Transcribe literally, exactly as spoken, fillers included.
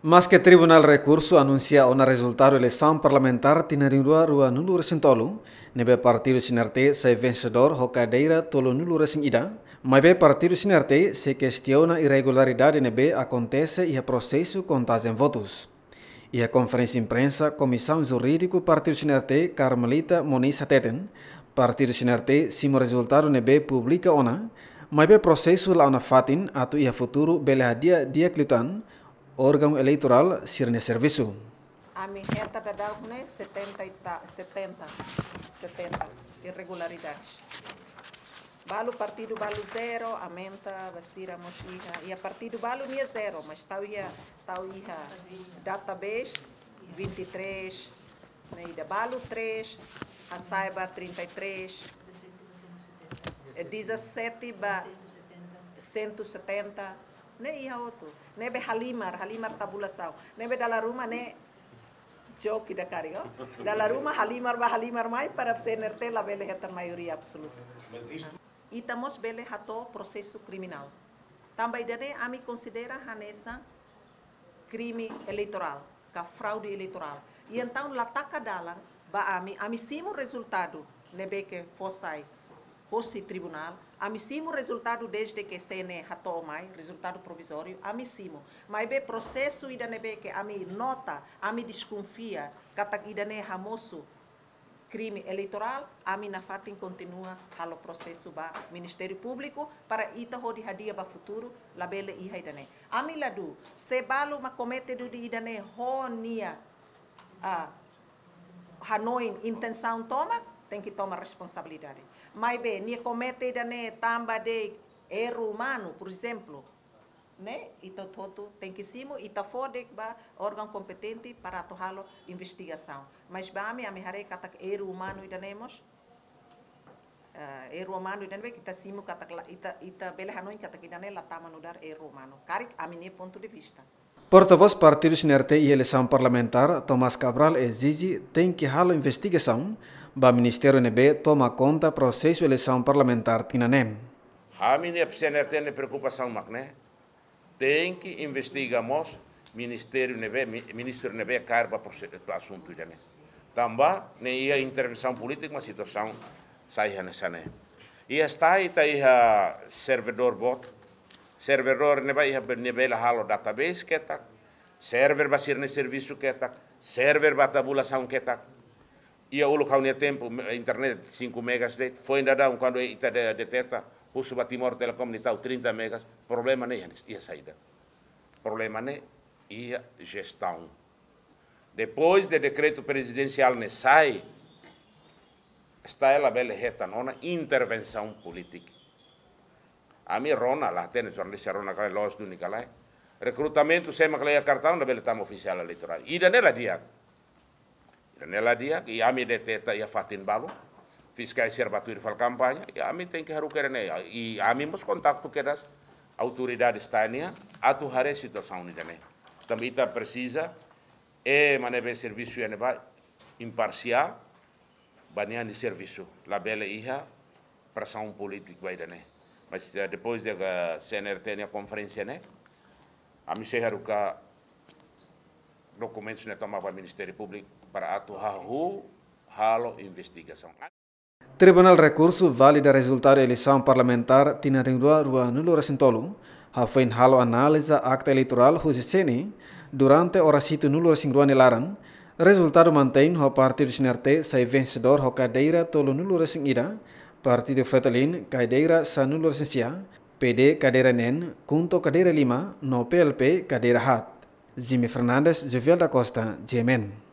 Maske Tribunál Rekursu anunsia ona rezultadu eleisaun parlamentár tinan rihun rua ruanulu-resin-tolu, ne'ebé partidu CNRT sai vensedór ho kadeira tolunulu-resin-ida, maibé partidu CNRT sei kestiona irregularidade ne'ebé akontese iha prosesu kontajen votus. Iha konferénsia imprensa, Komisaun Jurídiku partidu CNRT, Carmelita Moniz hateten, partidu CNRT simu rezultadu ne'ebé publika ona, maibé prosesu la'o nafatin atu iha futuru bele hadi'a di'ak liután órgaun eleitorál sira-nia servisu. Ami hetan daudaun ne'e setenta e ta-, setenta, setenta irregularidades. Balu partidu balu zero, aumenta ba sira mós iha. Iha partidu balu nia zero, mas tau iha, tau iha database vinte e três, ne'e ida balu três, hasai ba trinta e três, eh, dezassete ba cento e setenta, ne'e iha hotu. Ne'ebé halimar, halimar tabulasaun. Ne'ebé dala ruma ne'e joki da kari, ó. Dala ruma halimar ba halimar mai para CNRT labele hetan maioria absoluta. Ita mós bele hato'o prosesu kriminál. Tanba ida-ne'e ami konsidera hanesan krime eleitorál, ka fraude eleitorál. I entaun la taka dalan ba ami, ami simu rezultadu ne'ebé ke fó sai hosi tribunál, ami simu rezultadu desde ke CNE hato'o mai, rezultadu provizóriu, ami simu. Maibé prosesu ida ne'ebé ke ami nota, ami deskonfia katak ida-ne'e hamosu krime eleitorál, ami nafatin kontinua halo prosesu ba Ministériu Públiku para ita hodi hadi'a ba futuru, labele iha ida-ne'e. Ami ladún, se balu mak komete duni ida-ne'e ho nia, ah, hanoin, intensaun tomak, tenke toma responsabilidade. Maibé nia komete ida-ne'e tanba de erru umanu, por ezemplu, ne'e, ita hotu tenke simu, ita fó de'it ba órgaun kompetente para atu halo investigasaun. Mas ba ami, ami haree katak erru umanu ida-ne'e mós, eh, erru umanu ida-ne'e ita simu katak la, ita, ita bele hanoin katak ida-ne'e la tama nu'udar erru umanu. Karik ami-nia pontu de vista. Portavós partidu CNRT iha eleisaun parlamentár, Tomás Cabral, ezije tenke halo investigasaun ba ministériu ne'ebé toma konta prosesu eleisaun parlamentár tinan neen. Ami-nia CNRT nia preokupasaun mak ne'e, tenke investiga mós ministériu ne'ebé, mi-, ministru ne'ebé kaer ba prose-, ba asuntu ida-ne'e. Tanba ne'e iha intervensaun polítika, mas situasaun sai hanesan ne'e. Iha STAE ita iha servidór boot, servidór ne'ebé iha be-, ne'ebé la halo database ketak, server ba sira-nia servisu ketak, server ba tabulasaun ketak. Iha uluk ha'u-nia tempu, me-, internet cinco megas de'it, foin daudaun kuandu ita de-, deteta, husu ba Timor Telecom nia tau trinta megas, problema ne'e iha, iha saida? Problema ne'e iha jestaun. Depois de dekretu prezidensiál ne'e sai, STAE labele hetan ona intervensaun polítika. Ami rona, la hatene jornalista rona ka lae, loos duni ka lae. Rekrutamentu sé mak la iha kartaun labele tama ofisiál eleitorál. Ida-ne'e la di'ak. Ida-ne'e la di'ak, i ami deteta iha fatin balu. Fiskál sira bá tuir fali kampaña, i ami tenke haruka ida-ne'e. I ami mós kontaktu kedas autoridade STAE nian, atu haree situasaun ida-ne'e. Tanba ita presiza ema ne'ebé servisu iha ne'ebá imparsiál, ba nia nia servisu, labele iha presaun polítika ba ida-ne'e. Mas, eh, depois de, eh, CNRT nia konferénsia ne'e, ami sei haruka dokumentus ne'e tomak ba Ministériu Públiku para atu hahú halo investigasaun. Tribunál Rekursu valida rezultadu eleisaun parlamentár tinan rihun rua ruanulu-resin-tolu, hafoin halo analiza akta eleitorál husi CNE durante oras hitunulu-resin-rua nia laran, rezultadu mantein ho partidu CNRT sai vensedór ho kadeira tolunulu-resin-ida, partidu FRETILIN kadeira sanulu-resin-sia, PD kadeira neen, KHUNTO kadeira lima, no PLP kadeira haat. Jimmy Fernandes, Jovial da Costa, GMN.